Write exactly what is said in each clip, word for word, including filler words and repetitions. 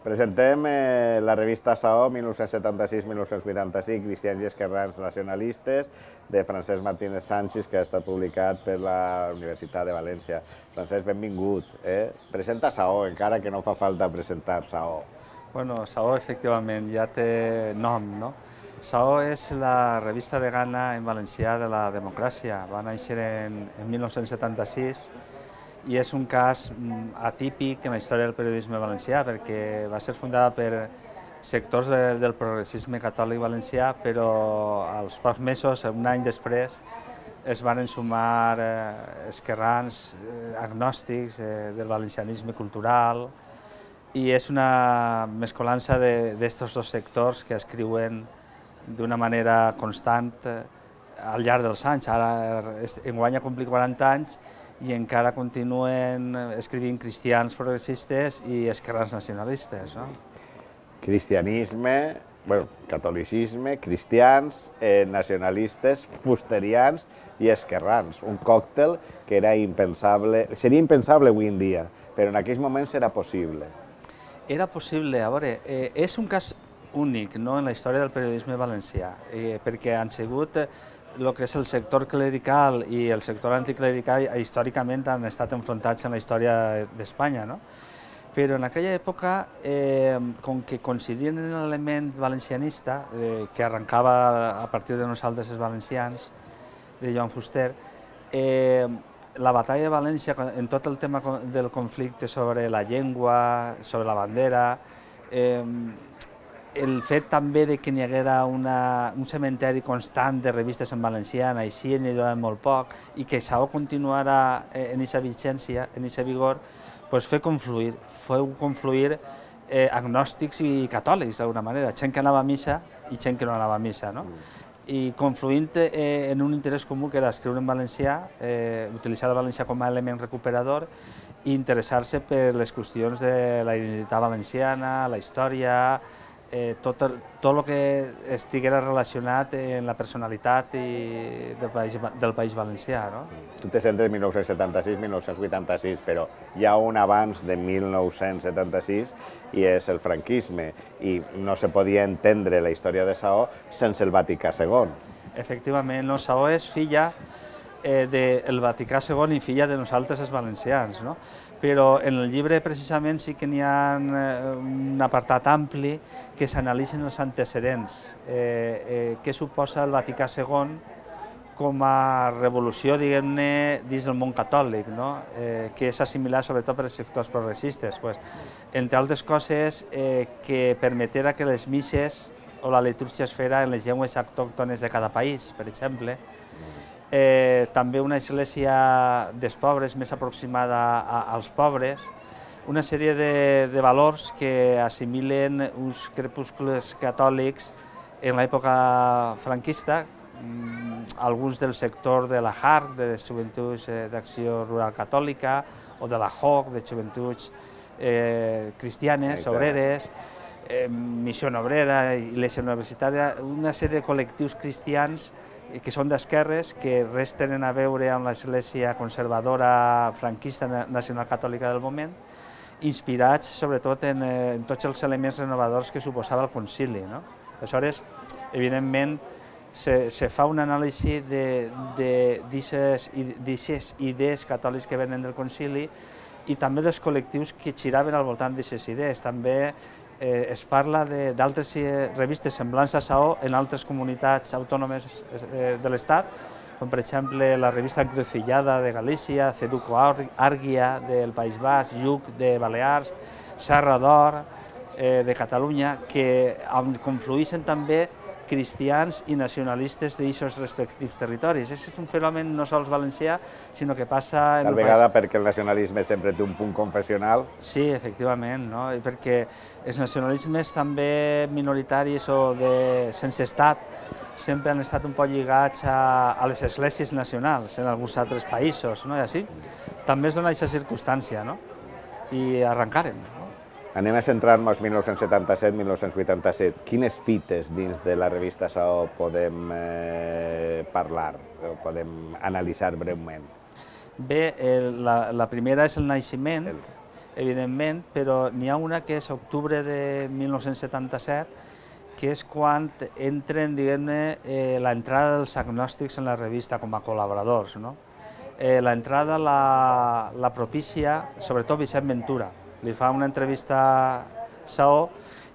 Presentem eh, la revista Saó mil nou-cents setanta-sis mil nou-cents vuitanta-cinc, Cristians i Esquerrans Nacionalistes, de Francesc Martínez Sanchis, que ha estat publicat per la Universitat de València. Francesc, benvingut. Eh? Presenta Saó, encara que no fa falta presentar Saó. Bueno, Saó, efectivament, ja té nom, no? Saó és la revista vegana en valencià de la democràcia. Va néixer en, en mil nou-cents setanta-sis i és un cas atípic en la història del periodisme valencià perquè va ser fundada per sectors de, del progressisme catòlic valencià, però als pocs mesos, un any després, es van sumar eh, esquerrans, eh, agnòstics, eh, del valencianisme cultural, i és una mescolança d'estos dos sectors que escriuen d'una manera constant eh, al llarg dels anys. Ara enguany ha complit quaranta anys i encara continuen escrivint cristians progressistes i esquerrans nacionalistes. No? Cristianisme, bueno, catolicisme, cristians, eh, nacionalistes, fusterians i esquerrans. Un còctel que era impensable, seria impensable avui en dia, però en aquells moments era possible. Era possible, a veure, eh, és un cas únic, no?, en la història del periodisme valencià, eh, perquè han sigut el que és el sector clerical i el sector anticlerical històricament han estat enfrontats en la història d'Espanya, no? Però en aquella època, eh, com que coincidien en l'element valencianista, eh, que arrencava a partir de nosaltres els valencians, de Joan Fuster, eh, la batalla de València, en tot el tema del conflicte sobre la llengua, sobre la bandera, eh, el fet també de que n'hi haguera una, un cementeri constant de revistes en valencià, així n'hi durava molt poc, i que Saó continuara en aquesta vigència, en aquesta vigor, doncs fer confluir, feu confluir eh, agnòstics i catòlics d'alguna manera, gent que anava a missa i gent que no anava a missa, no? I confluint eh, en un interès comú que era escriure en valencià, eh, utilitzar el valencià com a element recuperador i interessar-se per les qüestions de la identitat valenciana, la història, eh, tot, el, tot el que estiguera relacionat amb la personalitat i del, país, del País Valencià. No? Tu te centres en mil nou-cents setanta-sis mil nou-cents vuitanta-sis, però hi ha un abans de mil nou-cents setanta-sis i és el franquisme, i no se podia entendre la història de Saó sense el Vaticà segon. Efectivament, no, Saó és filla eh, del Vaticà segon i filla de nosaltres els valencians, no? Però en el llibre precisament sí que n'hi ha un apartat ampli que s'analitzen els antecedents, eh, eh, què suposa el Vaticà segon com a revolució, diguem-ne, dins del món catòlic, no? eh, que és assimilat sobretot per els sectors progressistes. Pues, entre altres coses, eh, que permetera que les misses o la litúrgia es fera en les llengües autòctones de cada país, per exemple. Eh, també una església dels pobres més aproximada a, als pobres, una sèrie de, de valors que assimilen uns crepuscles catòlics en l'època franquista, alguns del sector de la J A R C, de les Joventuts d'Acció Rural Catòlica, o de la J O C, de Joventuts eh, Cristianes, Obreres, eh, Missió Obrera, Iglesia Universitària, una sèrie de col·lectius cristians que són d'esquerres, que res tenen a veure amb l'església conservadora franquista nacional catòlica del moment, inspirats sobretot en, en tots els elements renovadors que suposava el concili. No? Aleshores, evidentment, se, se fa un anàlisi d'aquestes idees catòliques que venen del concili i també dels col·lectius que giraven al voltant d'aquestes idees. També eh, es parla d'altres revistes semblants a Saó en altres comunitats autònomes eh, de l'Estat, com per exemple la revista Encrucillada de Galícia, Ceduco Àrguia del País Basc, Lluc de Balears, Serra d'Or eh, de Catalunya, que confluïxen també cristians i nacionalistes d'aquests respectius territoris. Aquest és un fenomen no sols valencià, sinó que passa... Tal vegada perquè el nacionalisme sempre té un punt confessional. Sí, efectivament, no? I perquè els nacionalismes també minoritaris o de sense estat sempre han estat un poc lligats a, a les esglésies nacionals en alguns altres països, no? I així també es dona aquesta circumstància, no? I arrencaren, no? Anem a centrar-nos mil nou-cents setanta-set mil nou-cents vuitanta-set. Quines fites dins de la revista Saó podem eh, parlar, o podem analitzar breument? Bé, el, la, la primera és el naixement, evidentment, però n'hi ha una que és octubre de mil nou-cents setanta-set, que és quan entren, diguem-ne, eh, l'entrada dels agnòstics en la revista com a col·laboradors, no? Eh, l'entrada la, la propicia, sobretot Vicent Ventura. Li fa una entrevista a Saó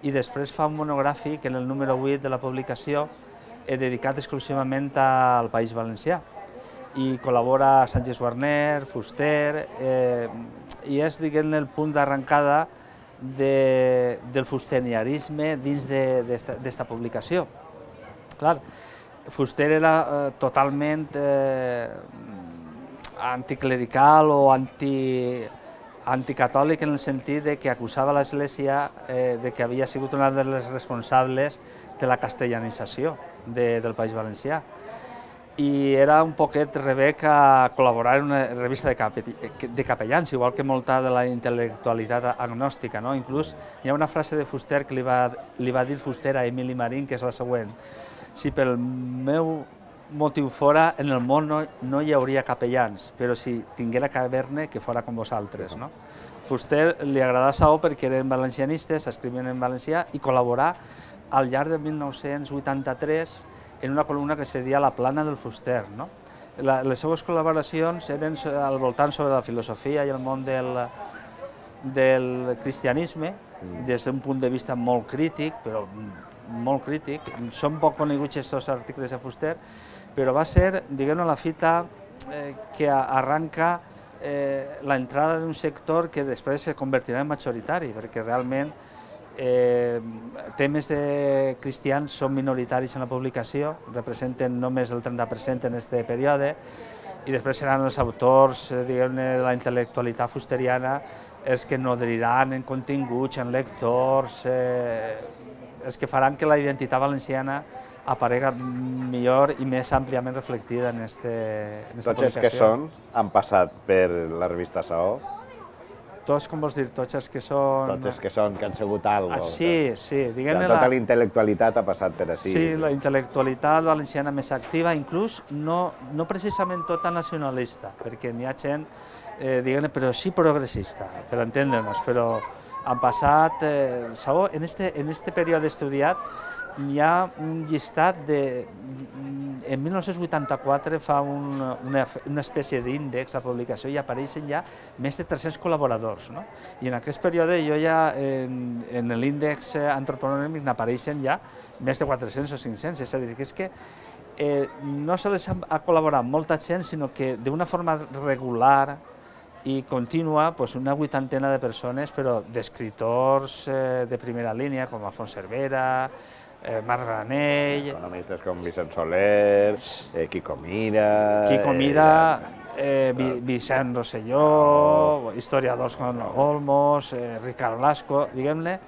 i després fa un monogràfic en el número vuit de la publicació eh, dedicat exclusivament al País Valencià. I col·labora Sánchez Warner, Fuster, eh, i és, diguem-ne, el punt d'arrencada de, del fusterianisme dins d'esta publicació. Clar, Fuster era eh, totalment eh, anticlerical o anti, anticatòlic en el sentit de que acusava l'Església eh, de que havia sigut una de les responsables de la castellanització de, del País Valencià. I era un poquet rebec a col·laborar en una revista de, cape, de capellans, igual que molta de la intel·lectualitat agnòstica, no? Inclús hi ha una frase de Fuster que li va, li va dir Fuster a Emili Marín, que és la següent: si pel meu motiu fora, en el món no, no hi hauria capellans, però si tinguera que haver-ne, que fora com vosaltres. No? Fuster li agradava Saó perquè eren valencianistes, escrivien en valencià i col·laborar al llarg de mil nou-cents vuitanta-tres en una columna que se deia La plana del Fuster. No? La, les seues col·laboracions eren al voltant sobre la filosofia i el món del, del cristianisme, des d'un punt de vista molt crític, però molt crític. Són poc coneguts aquests articles de Fuster, però va ser, diguem-ne, la fita eh, que arranca eh, l'entrada d'un sector que després se convertirà en majoritari, perquè realment eh, temes de cristians són minoritaris en la publicació, representen només el trenta per cent en aquest període, i després seran els autors, eh, diguem-ne, de la intel·lectualitat fusteriana, els que nodriran en continguts, en lectors, eh, els que faran que la identitat valenciana aparega millor i més àmpliament reflectida en aquesta publicació. Tots els que són han passat per la revista Saó? Tots, com vols dir, tots els que són... Tots els que són, que han sigut alguna cosa. Sí, sí. Diguem-ne tota la intel·lectualitat ha passat per ací. Sí, la intel·lectualitat valenciana més activa, inclús no, no precisament tota nacionalista, perquè n'hi ha gent, eh, diguem-ne, però sí progressista, per entendre'ns, però han passat... Eh, Saó, en este, en este període estudiat, hi ha un llistat de... En mil nou-cents vuitanta-quatre fa un, una, una espècie d'índex a publicació i apareixen ja més de tres-cents col·laboradors. No? I en aquest període jo ja, en, en l'índex antropològic n'apareixen ja més de quatre-cents o cinc-cents. És a dir, que és que eh, no sols ha col·laborat molta gent, sinó que d'una forma regular i contínua, pues una vuitantena de persones, però d'escriptors eh, de primera línia, com Alfons Cervera, Eh, Marc Granell... Economistes com Vicent Soler, eh, Quico Mira... Quico Mira, eh, eh, Vicent Rosselló, historiadors com Olmos, eh, Ricard Blasco, diguem-ne,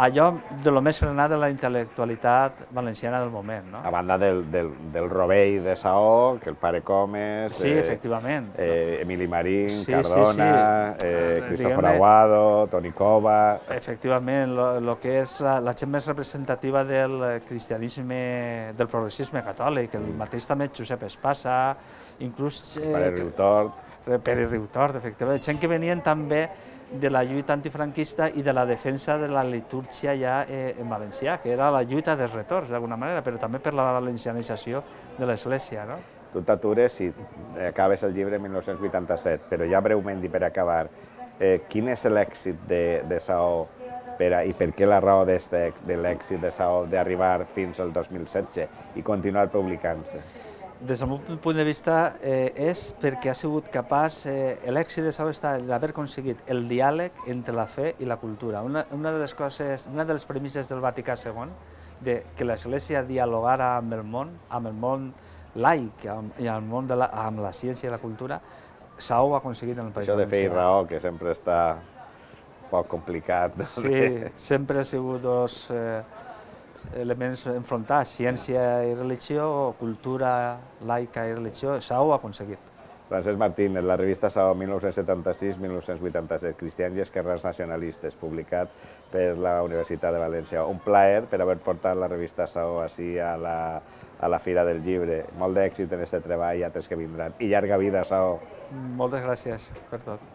allò de lo més granat de la intel·lectualitat valenciana del moment. No? A banda del, del, del rovell de Saó, que el pare Comes... Sí, eh, efectivament. Eh, Emili Marín, sí, Cardona, sí, sí. eh, Cristòfor Aguado, Toni Cova... Efectivament, el que és la, la gent més representativa del cristianisme, del progressisme catòlic, el mateix també Josep Espasa, inclús... Eh, Pere Riutort. Pere Riutort, efectivament. Gent que venien també de la lluita antifranquista i de la defensa de la litúrgia ja eh, en valencià, que era la lluita dels retorns, d'alguna manera, però també per la valencianització de l'Església. No? Tu t'atures i acabes el llibre en mil nou-cents vuitanta-set, però ja breument i per acabar, eh, quin és l'èxit de, de Saó per a, i per què la raó de l'èxit de Saó d'arribar fins al dos mil setze i continuar publicant-se? Des del meu punt de vista eh, és perquè ha sigut capaç, eh, l'èxit de Saó està en haver aconseguit el diàleg entre la fe i la cultura. Una, una de les coses, una de les premisses del Vaticà segon, de que l'Església dialogara amb el món, amb el món laic amb, i amb, el món de la, amb la ciència i la cultura, Saó ho ha aconseguit en el País Valencià. Això de fe i raó, que sempre està poc complicat. Sí, sempre ha sigut dos... Eh, elements enfrontats, ciència i religió, o cultura laica i religió, Saó ho ha aconseguit. Francesc Martínez, la revista Saó mil nou-cents setanta-sis mil nou-cents vuitanta-set, Cristians i Esquerrans Nacionalistes, publicat per la Universitat de València. Un plaer per haver portat la revista Saó així a la, a la Fira del Llibre. Molt d'èxit en aquest treball i altres que vindran. I llarga vida, Saó. Moltes gràcies per tot.